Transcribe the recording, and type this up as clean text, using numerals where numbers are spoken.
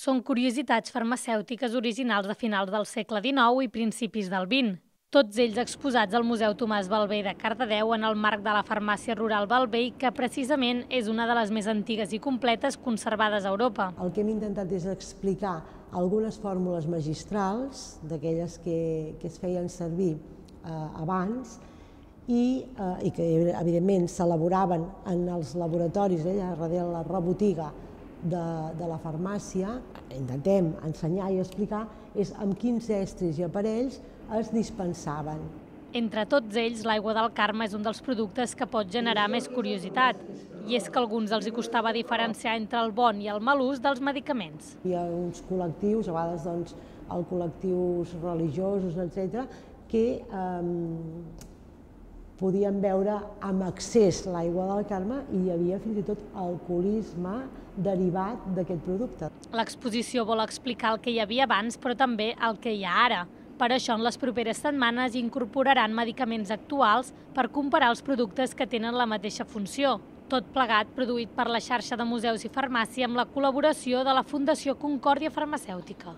Són curiositats farmacèutiques originals de finals del segle XIX i principis del XX. Tots ells exposats al Museu Tomàs Ballbé de Cardedeu en el marc de la farmàcia rural Ballbé, que precisament és una de les més antigues i completes conservades a Europa. El que hem intentat és explicar algunes fórmules magistrals, d'aquelles que es feien servir abans, i que evidentment s'elaboraven en els laboratoris, allà darrere la rebotiga de la farmàcia. Intentem ensenyar i explicar amb quins estris i aparells es dispensaven. Entre tots ells, l'aigua del Carme és un dels productes que pot generar més curiositat, i és que a alguns els hi costava diferenciar entre el bon i el mal ús dels medicaments. Hi ha uns col·lectius, a vegades els col·lectius religiosos, etc., que podien beure amb excés l'aigua del Carme i hi havia fins i tot alcoholisme derivat d'aquest producte. L'exposició vol explicar el que hi havia abans, però també el que hi ha ara. Per això, en les properes setmanes incorporaran medicaments actuals per comparar els productes que tenen la mateixa funció. Tot plegat produït per la xarxa de museus i farmàcia amb la col·laboració de la Fundació Concòrdia Farmacèutica.